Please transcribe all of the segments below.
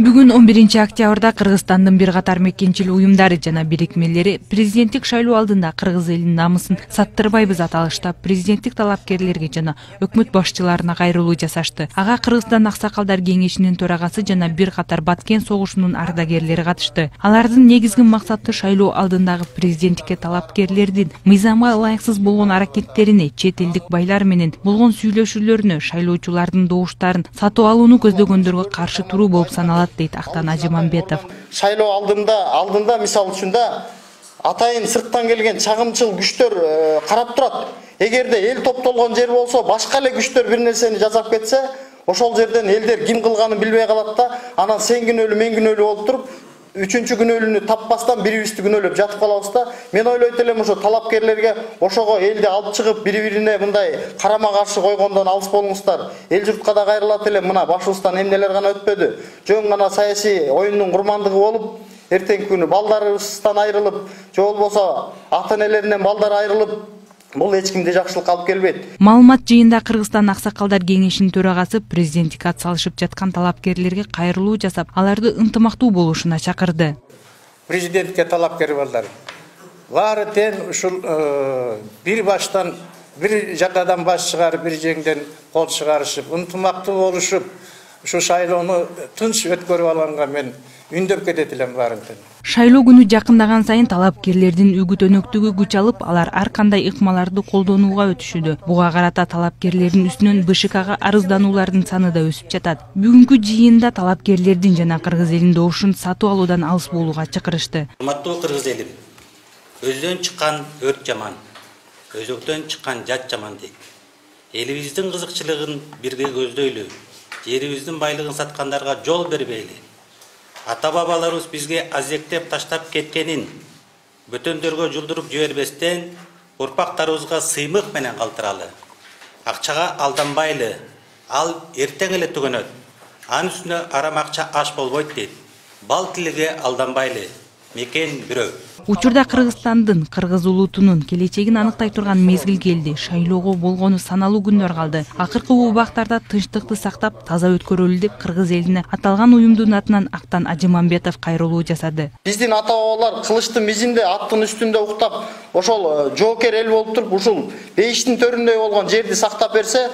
Бүгүн 11 октябрда Кыргызстандын бир катар мекенчил уюмдары жана бирикмелери президенттик шайлоо алдында кыргыз элинин намысын саттырбайбыз аталыштап президенттик талапкерлерге жана өкмөт башчыларына кайрылуу жасашты. Ага Кыргызстан аксакалдар кеңешинин төрагасы жана бир катар Баткен согушунун ардагерлери катышты. Алардын негизги максаты шайлоо алдындагы президенттикке талапкерлердин мыйзамга ылайыксыз болгон аракеттерине, чет элдик байлар менен болгон сүйлөшүүлөрүнө, шайлоочулардын добуштарын сатып алууну көздөгөндөргө каршы туруу болуп саналат, дейт Актан Ажимамбетов. Шайлоо алдында мисал үчүн атайын сырттан келген чагымчыл күчтөр карап турат. Эгерде эл топтолгон жер болсо, башка эле күчтөр бир нерсени жасап кетсе, ошол жерден элдер ким кылганын билбей калат да, анан сен күнөөлүү, мен күнөөлүү болуп туруп, үчүнчү күнөөлүүнү таппастан бирибизди күнөөлөп жатып калабыз да. Мен ойлойт элем ошо талапкерлерге ошого элди алып чыгып бири-бирине мындай карама каршы койгондон алыс болуңуздар. Эл журтка да кайрылат элем, мына башыбыздан эмнелер гана өтпөдү. Жөн гана саясий оюндун курмандыгы болуп, эртеңки күнү балдарыбыздан айрылып, же болбосо ата-энелеринен балдар айрылып, бул эч кимде жакшылыкка алып келбейт. Маалымат жыйында Кыргызстан аксакалдар кеңешинин төрагасы президенттикке атсалышып жаткан талапкерлерге кайрылуу жасап, аларды ынтымактуу болушуна чакырды. Президентке талапкер балдар баары тең ушул бир баштан бир жакадан баш чыгарып, бир жеңден кол чыгарышып, ынтымактуу болушуп, ушу шайлоону тынч өткөрүп алганга мен үндөп кетет элем баарын тең. Шайлоо күнү жакындаган сайын талапкерлердин үгүт өнөктүгү күч алып, алар ар кандай ыкмаларды колдонууга өтүшүүдө. Буга карата талапкерлердин үстүнөн БШКга арыздануулардын саны да өсүп жатат. Бүгүнкү жыйында талапкерлердин жана кыргыз элинин добушун сатып алуудан алыс болууга чакырышты. Урматтуу кыргыз элим, өздөн чыккан өрт жаман, өзөктөн чыккан жат жаман дейт. Элибиздин кызыкчылыгын бирге көздөйлү, жерибиздин байлыгын саткандарга жол бербейли. Ата-бабаларыбыз бизге азектеп таштап кеткенин бөтөндөргө жулдуруп жибербестен, урпактарыбызга сыймык менен калтыралы. Акчага алданбайлы, ал эртең эле түгөнөт. Анын үстүнө арам акча аш болбойт дейт. Бал тилиге алданбайлы, мекен бирөө. Учурда Кыргызстандын, кыргыз улутунун келечегин аныктай турган мезгил келди. Шайлоого болгону саналуу күндөр калды. Акыркы убактарда тынчтыкты сактап, таза өткөрөлү деп кыргыз элине аталган уюмдун атынан Актан Ажимамбетов кайрылуу жасады. Биздин ата-бабалар кылычтын мизинде, аттын үстүндө уктап, ошол жоокер эл болуп туруп, ушул бейиштин төрүндөй болгон жерди сактап берсе,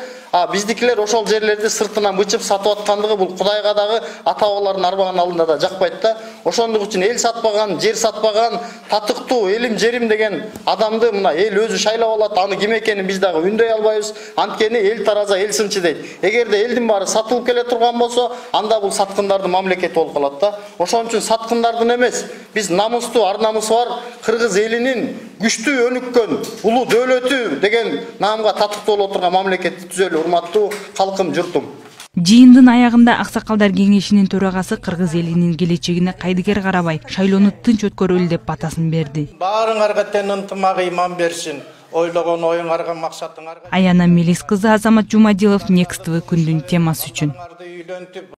биздикилер ошол жерлерди сыртынан бычып сатып аткандыгы бул Кудайга дагы ата-бабалардын арбаган алдында да жакпайт да. Ошондук үчүн эл сатпаган, жер сатпаган, татыктуу элим жерим деген адамды мына эл өзү шайлап алат. Аны ким экенин биз дагы үндөй албайбыз. Анткени эл тараза, эл сынчы дейт. Эгерде элдин баары сатылып келе турган болсо, анда бул саткындардын мамлекети болуп калат да. Ошон үчүн саткындардын эмес, биз намустуу, ар намысы бар кыргыз элинин күчтүү өнүккөн улуу дөөлөтү деген наамга татыктуу боло турган мамлекетти түзөлү, урматтуу калкым, журтум. Жыйындын аягында Аксакалдар кеңешинин төрагасы кыргыз элинин келечегине кайдыгер карабай, шайлоону тынч өткөрөлү деп батасын берди. Баарыңарга тең ынтымак ыйман берсин. Ойлогон оюңарга, максатыңарга. Аяна Мелис кызы, Азамат Жумадилов, Next TV күндүн темасы үчүн.